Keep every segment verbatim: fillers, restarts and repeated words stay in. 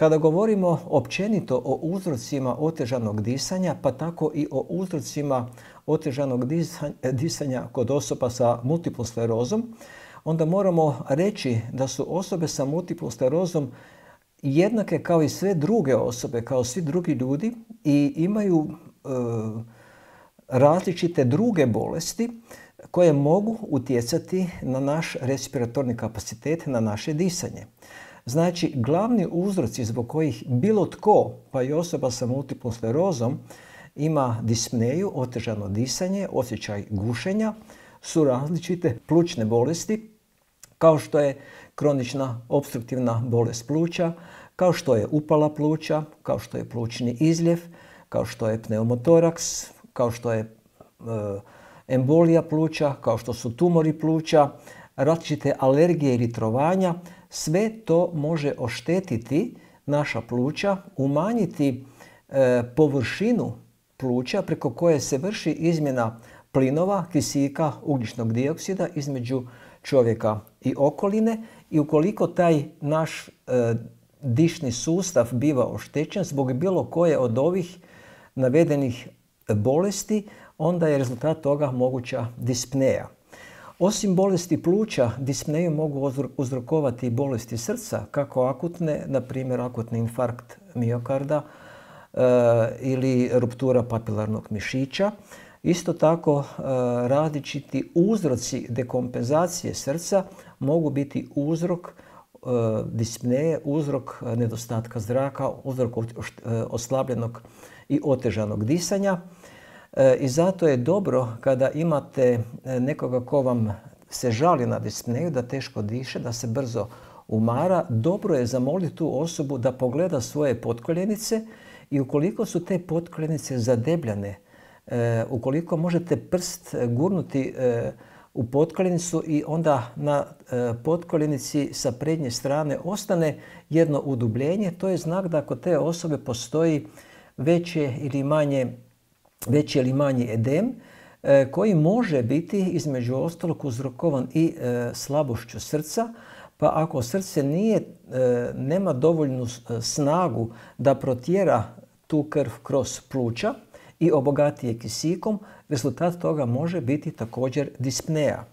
Kada govorimo općenito o uzrocima otežanog disanja, pa tako i o uzrocima otežanog disanja kod osoba sa multiplom sklerozom, onda moramo reći da su osobe sa multiplom sklerozom jednake kao i sve druge osobe, kao svi drugi ljudi i imaju e, različite druge bolesti koje mogu utjecati na naš respiratorni kapacitet, na naše disanje. Znači, glavni uzroci zbog kojih bilo tko, pa i osoba sa multiplom sklerozom, ima dispneju, otežano disanje, osjećaj gušenja, su različite plućne bolesti, kao što je kronična opstruktivna bolest pluća, kao što je upala pluća, kao što je plućni izljev, kao što je pneumotoraks, kao što je e, embolija pluća, kao što su tumori pluća, različite alergije ili trovanja. Sve to može oštetiti naša pluća, umanjiti e, površinu pluća preko koje se vrši izmjena plinova, kisika, ugljičnog dioksida između čovjeka i okoline i ukoliko taj naš e, dišni sustav biva oštećen zbog bilo koje od ovih navedenih bolesti, onda je rezultat toga moguća dispneja. Osim bolesti pluća, dispneju mogu uzrokovati bolesti srca, kako akutne, na primjer akutni infarkt miokarda e, ili ruptura papilarnog mišića. Isto tako e, različiti uzroci dekompenzacije srca mogu biti uzrok e, dispneje, uzrok nedostatka zraka, uzrok oslabljenog i otežanog disanja. I zato je dobro kada imate nekoga ko vam se žali na dispneju, da teško diše, da se brzo umara, dobro je zamoliti tu osobu da pogleda svoje potkoljenice i ukoliko su te potkoljenice zadebljane, ukoliko možete prst gurnuti u potkoljenicu i onda na potkoljenici sa prednje strane ostane jedno udubljenje, to je znak da kod te osobe postoji veće ili manje veći ili manji edem e, koji može biti između ostalog uzrokovan i e, slabošću srca, pa ako srce nije, e, nema dovoljnu snagu da protjera tu krv kroz pluća i obogati je kisikom, rezultat toga može biti također dispneja.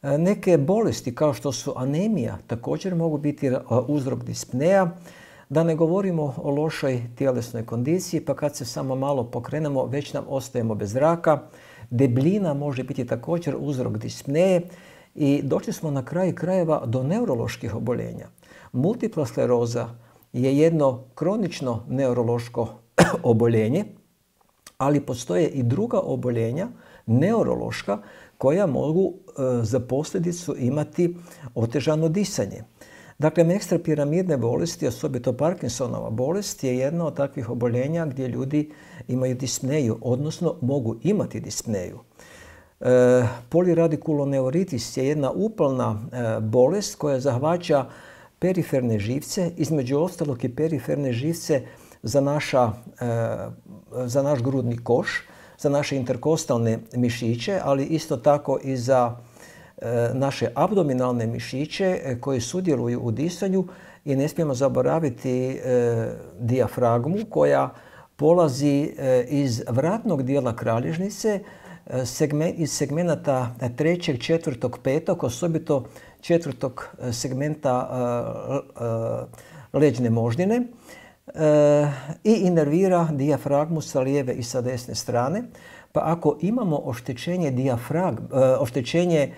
E, neke bolesti kao što su anemija također mogu biti uzrok dispneja. Da ne govorimo o lošoj tjelesnoj kondiciji, pa kad se samo malo pokrenemo, već nam ostajemo bez zraka. Debljina može biti također uzrok dispneje i došli smo na kraju krajeva do neuroloških oboljenja. Multipla skleroza je jedno kronično neurološko oboljenje, ali postoje i druga oboljenja, neurološka, koja mogu e, za posljedicu imati otežano disanje. Dakle, ekstrapiramidne bolesti, osobito Parkinsonova bolest, je jedna od takvih oboljenja gdje ljudi imaju dispneju, odnosno mogu imati dispneju. E, poliradiculoneuritis je jedna upalna e, bolest koja zahvaća periferne živce, između ostalog i periferne živce za, naša, e, za naš grudni koš, za naše interkostalne mišiće, ali isto tako i za naše abdominalne mišiće koji sudjeluju u disanju i ne smijemo zaboraviti e, dijafragmu koja polazi e, iz vratnog dijela kralježnice, e, segment, iz segmenata trećeg, četvrtog, petog, osobito četvrtog segmenta e, e, leđne moždine e, i inervira dijafragmu sa lijeve i sa desne strane. Pa ako imamo oštećenje dijafragme, e, oštećenje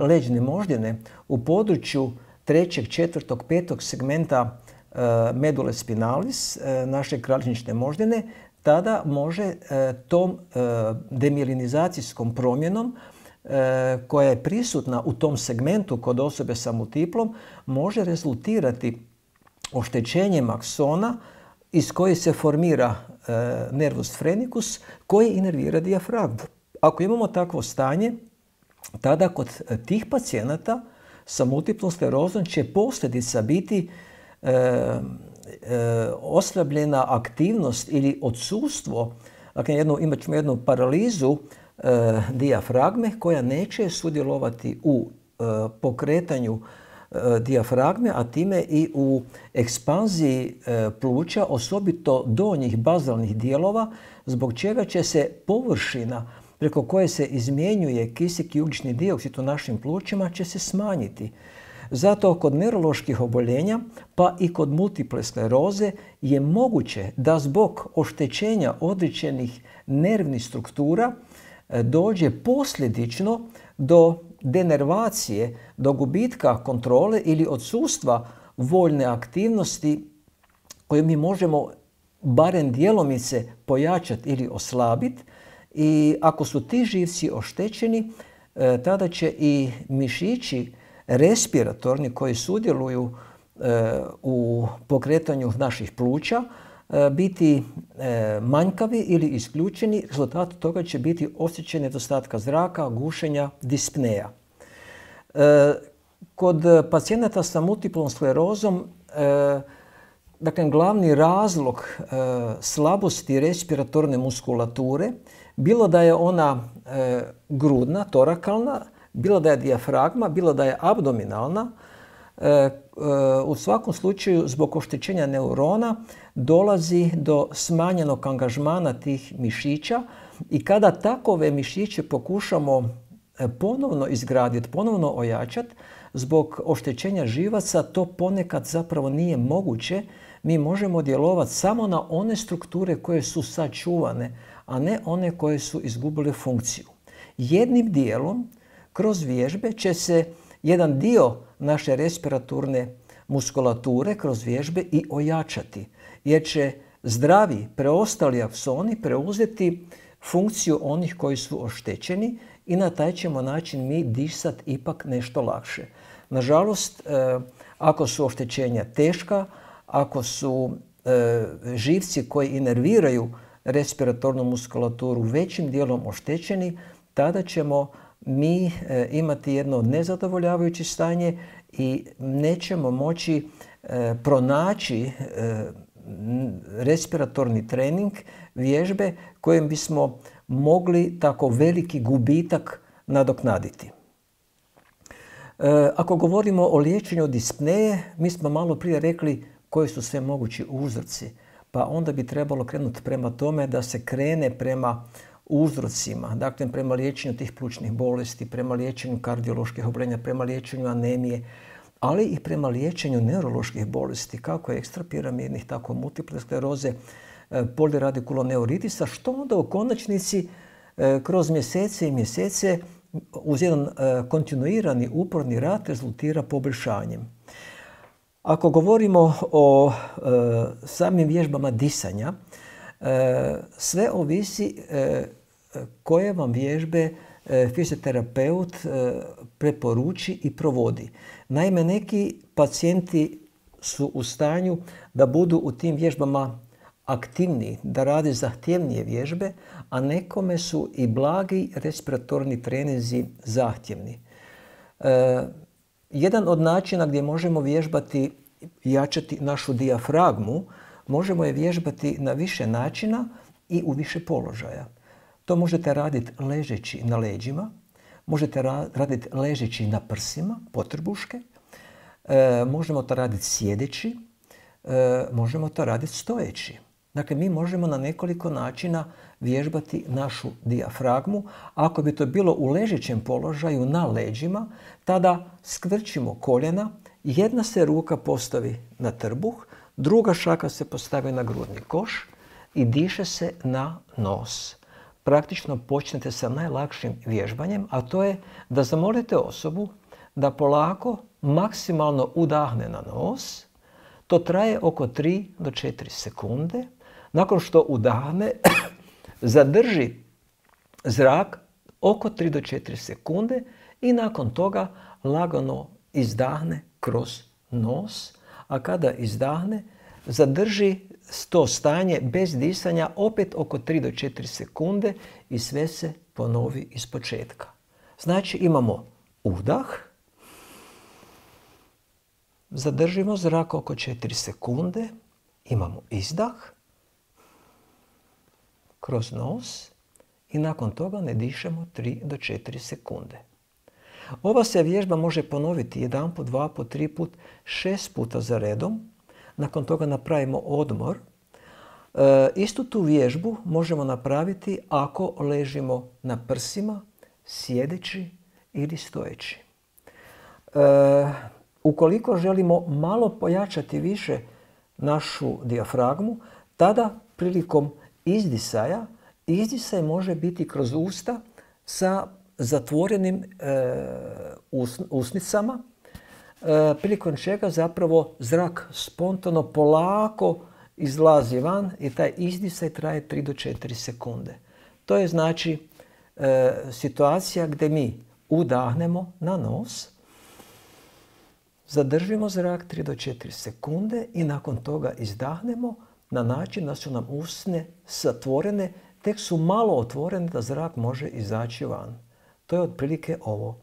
leđne moždine u području trećeg, četvrtog, petog segmenta medule spinalis, naše kralježnične moždine, tada može tom demilinizacijskom promjenom koja je prisutna u tom segmentu kod osobe sa multiplom, može rezultirati oštećenjem aksona iz koje se formira nervus phrenicus koji inervira dijafragmu. Ako imamo takvo stanje, tada kod tih pacijenata sa multiplom sklerozom će posljedica biti e, e, oslabljena aktivnost ili odsustvo Dakle, jednu, imat ćemo jednu paralizu e, dijafragme koja neće sudjelovati u e, pokretanju e, dijafragme, a time i u ekspanziji e, pluća, osobito donjih bazalnih dijelova, zbog čega će se površina preko koje se izmjenjuje kisik i ugljični dioksid u našim plućima će se smanjiti. Zato kod neuroloških oboljenja, pa i kod multiple skleroze, je moguće da zbog oštećenja određenih nervnih struktura dođe posljedično do denervacije, do gubitka kontrole ili odsustva voljne aktivnosti koju mi možemo barem djelomice pojačati ili oslabiti. I ako su ti živci oštećeni, tada će i mišići respiratorni koji sudjeluju u pokretanju naših pluća biti manjkavi ili isključeni. Rezultat toga će biti osjećaj nedostatka zraka, gušenja, dispneja. Kod pacijenata sa multiplom sklerozom, dakle, glavni razlog slabosti respiratorne muskulature, bilo da je ona grudna, torakalna, bilo da je dijafragma, bilo da je abdominalna, u svakom slučaju zbog oštećenja neurona dolazi do smanjenog angažmana tih mišića i kada takove mišiće pokušamo ponovno izgraditi, ponovno ojačati, zbog oštećenja živaca to ponekad zapravo nije moguće. Mi možemo djelovati samo na one strukture koje su sačuvane, a ne one koje su izgubile funkciju. Jednim dijelom kroz vježbe će se jedan dio naše respiratorne muskulature kroz vježbe i ojačati, jer će zdravi preostali aksoni preuzeti funkciju onih koji su oštećeni i na taj ćemo način mi disati ipak nešto lakše. Nažalost, ako su oštećenja teška, ako su živci koji inerviraju respiratornu muskulaturu većim dijelom oštećeni, tada ćemo mi imati jedno nezadovoljavajuće stanje i nećemo moći pronaći respiratorni trening, vježbe kojim bismo mogli tako veliki gubitak nadoknaditi. Ako govorimo o liječenju dispneje, mi smo malo prije rekli koji su sve mogući uzroci, pa onda bi trebalo krenuti prema tome da se krene prema uzrocima, dakle prema liječenju tih plućnih bolesti, prema liječenju kardioloških oboljenja, prema liječenju anemije, ali i prema liječenju neuroloških bolesti, kako ekstrapiramidnih, tako multiple skleroze, poliradikuloneoritisa, što onda u konačnici kroz mjesece i mjesece uz jedan kontinuirani uporni rad rezultira poboljšanjem. Ako govorimo o e, samim vježbama disanja, e, sve ovisi e, koje vam vježbe e, fizioterapeut e, preporuči i provodi. Naime, neki pacijenti su u stanju da budu u tim vježbama aktivniji, da rade zahtjevnije vježbe, a nekome su i blagi respiratorni treninzi zahtjevni. E, Jedan od načina gdje možemo vježbati i jačati našu dijafragmu, možemo je vježbati na više načina i u više položaja. To možete raditi ležeći na leđima, možete raditi ležeći na prsima, potrbuške, e, možemo to raditi sjedeći, e, možemo to raditi stojeći. Dakle, mi možemo na nekoliko načina vježbati našu dijafragmu. Ako bi to bilo u ležećem položaju na leđima, tada skvrčimo koljena, jedna se ruka postavi na trbuh, druga šaka se postavi na grudni koš i diše se na nos. Praktično počnete sa najlakšim vježbanjem, a to je da zamolite osobu da polako, maksimalno udahne na nos. To traje oko tri do četiri sekunde. Nakon što udahne, zadrži zrak oko tri do četiri sekunde i nakon toga lagano izdahne kroz nos, a kada izdahne, zadrži to stanje bez disanja opet oko tri do četiri sekunde i sve se ponovi iz početka. Znači imamo udah, zadržimo zrak oko četiri sekunde, imamo izdah, kroz nos i nakon toga ne dišemo tri do četiri sekunde. Ova se vježba može ponoviti jedan put, dva put, tri put, šest puta za redom. Nakon toga napravimo odmor. E, istu tu vježbu možemo napraviti ako ležimo na prsima, sjedeći ili stojeći. E, ukoliko želimo malo pojačati više našu dijafragmu, tada prilikom izdisaja, izdisaj može biti kroz usta sa zatvorenim e, us, usnicama, e, prilikom čega zapravo zrak spontano polako izlazi van i taj izdisaj traje tri do četiri sekunde. To je znači e, situacija gdje mi udahnemo na nos, zadržimo zrak tri do četiri sekunde i nakon toga izdahnemo na način da su nam usne zatvorene, tek su malo otvorene da zrak može izaći van. To je otprilike ovo.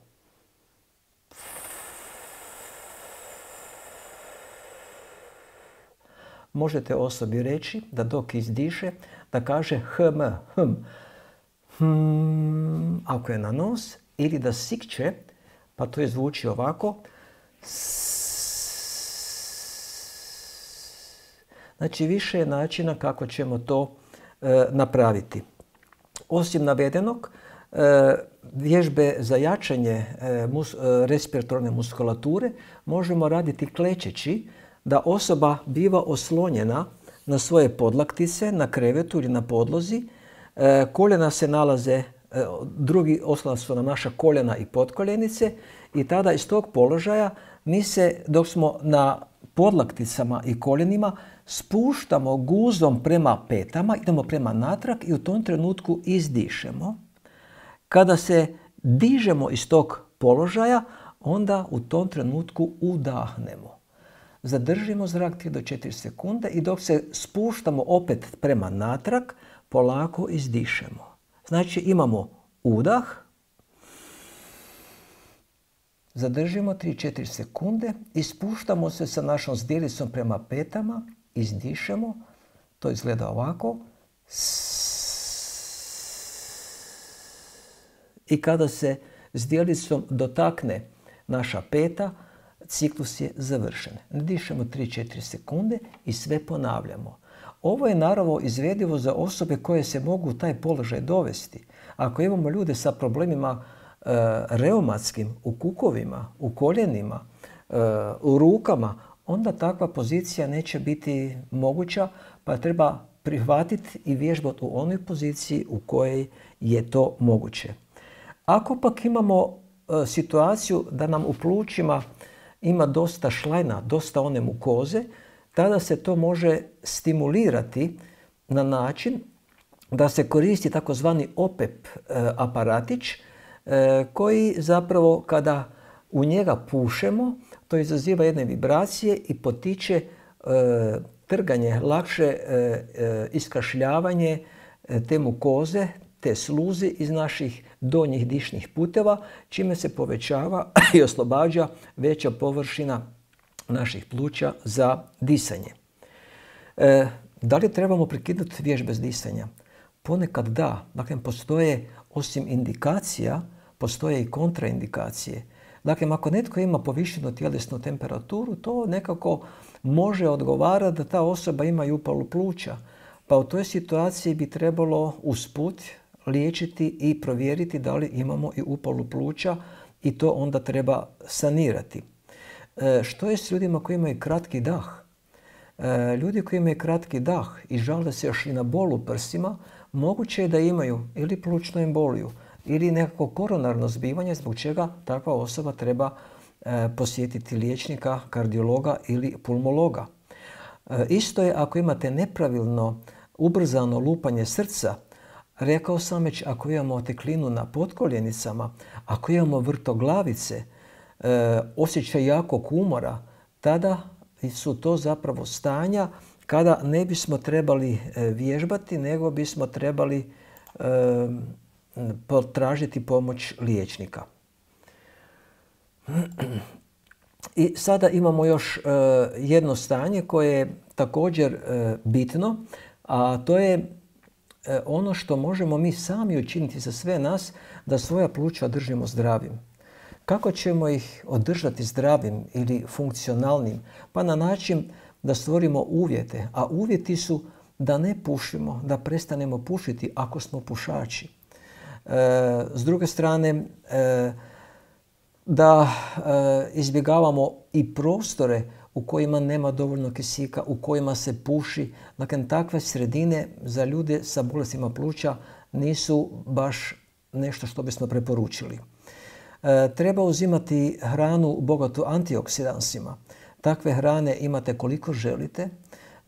Možete osobi reći da dok izdiše, da kaže hm, hm, hm, ako je na nos, ili da sikće, pa to je zvuči ovako. Znači, više je načina kako ćemo to e, napraviti. Osim navedenog, e, vježbe za jačanje e, mus, e, respiratorne muskulature možemo raditi klečeći, da osoba biva oslonjena na svoje podlaktice, na krevetu ili na podlozi. E, koljena se nalaze, e, drugi oslon su nam naša koljena i potkoljenice i tada iz tog položaja mi se, dok smo na podlakticama i koljenima, spuštamo guzom prema petama, idemo prema natrag i u tom trenutku izdišemo. Kada se dižemo iz tog položaja, onda u tom trenutku udahnemo. Zadržimo zrak tri do četiri sekunde i dok se spuštamo opet prema natrag, polako izdišemo. Znači imamo udah, zadržimo tri do četiri sekunde i spuštamo se sa našom zdjelicom prema petama, izdišemo, to izgleda ovako. I kada se zdjelicom dotakne naša peta, ciklus je završen. Dišemo tri do četiri sekunde i sve ponavljamo. Ovo je naravno izvedivo za osobe koje se mogu u taj položaj dovesti. Ako imamo ljude sa problemima e, reumatskim, u kukovima, u koljenima, e, u rukama, onda takva pozicija neće biti moguća, pa treba prihvatiti i vježbati u onoj poziciji u kojoj je to moguće. Ako pak imamo e, situaciju da nam u plućima ima dosta šlajna, dosta one mukoze, tada se to može stimulirati na način da se koristi takozvani opep e, aparatić e, koji zapravo kada u njega pušemo, to izaziva jedne vibracije i potiče e, trganje, lakše e, e, iskašljavanje e, te mukoze, te sluze iz naših donjih dišnih puteva, čime se povećava i oslobađa veća površina naših pluća za disanje. E, da li trebamo prekinuti vježbe s disanja? Ponekad da. Dakle, postoje, osim indikacija, postoje i kontraindikacije. Dakle, ako netko ima povišenu tjelesnu temperaturu, to nekako može odgovarati da ta osoba ima i upalu pluća. Pa u toj situaciji bi trebalo usput liječiti i provjeriti da li imamo i upalu pluća i to onda treba sanirati. E, što je s ljudima koji imaju kratki dah? E, ljudi koji imaju kratki dah i žale se još i na bol u prsima, moguće je da imaju ili plućnu emboliju ili nekako koronarno zbivanje zbog čega takva osoba treba e, posjetiti liječnika, kardiologa ili pulmologa. E, isto je ako imate nepravilno ubrzano lupanje srca. Rekao sam već, ako imamo oteklinu na potkoljenicama, ako imamo vrtoglavice, e, osjećaj jakog umora, tada su to zapravo stanja kada ne bismo trebali e, vježbati, nego bismo trebali e, potražiti pomoć liječnika. I sada imamo još e, jedno stanje koje je također e, bitno, a to je ono što možemo mi sami učiniti za sve nas da svoja pluća držimo zdravim. Kako ćemo ih održati zdravim ili funkcionalnim? Pa na način da stvorimo uvjete, a uvjeti su da ne pušimo, da prestanemo pušiti ako smo pušači. E, s druge strane, e, da e, izbjegavamo i prostore u kojima nema dovoljno kisika, u kojima se puši. Dakle, takve sredine za ljude sa bolestima pluća nisu baš nešto što bismo preporučili. E, treba uzimati hranu bogatu antioksidansima. Takve hrane imate koliko želite.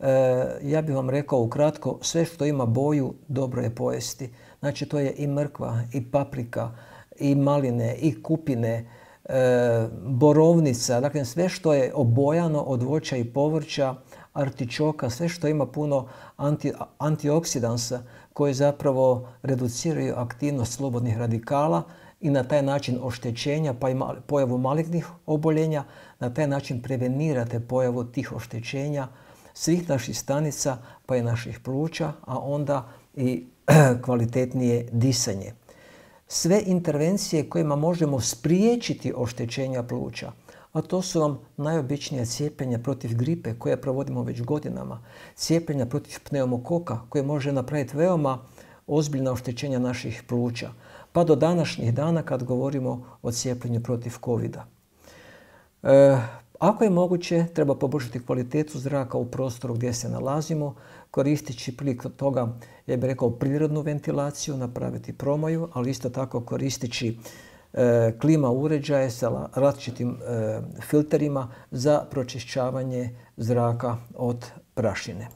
E, ja bih vam rekao ukratko, sve što ima boju dobro je pojesti. Znači to je i mrkva, i paprika, i maline, i kupine, e, borovnica, dakle sve što je obojano od voća i povrća, artičoka, sve što ima puno anti, antioksidansa koji zapravo reduciraju aktivnost slobodnih radikala i na taj način oštećenja pa i pojavu malignih oboljenja, na taj način prevenirate pojavu tih oštećenja svih naših stanica pa i naših pluća, a onda i kvalitetnije disanje. Sve intervencije kojima možemo spriječiti oštećenja pluća, a to su vam najobičnija cijepljenja protiv gripe koje provodimo već godinama, cijepljenja protiv pneumokoka koje može napraviti veoma ozbiljna oštećenja naših pluća, pa do današnjih dana kad govorimo o cijepljenju protiv kovida. E, ako je moguće, treba poboljšati kvalitetu zraka u prostoru gdje se nalazimo, koristeći prilikom toga, ja bih rekao, prirodnu ventilaciju, napraviti promoju, ali isto tako koristeći e, klima uređaje sa različitim e, filterima za pročišćavanje zraka od prašine.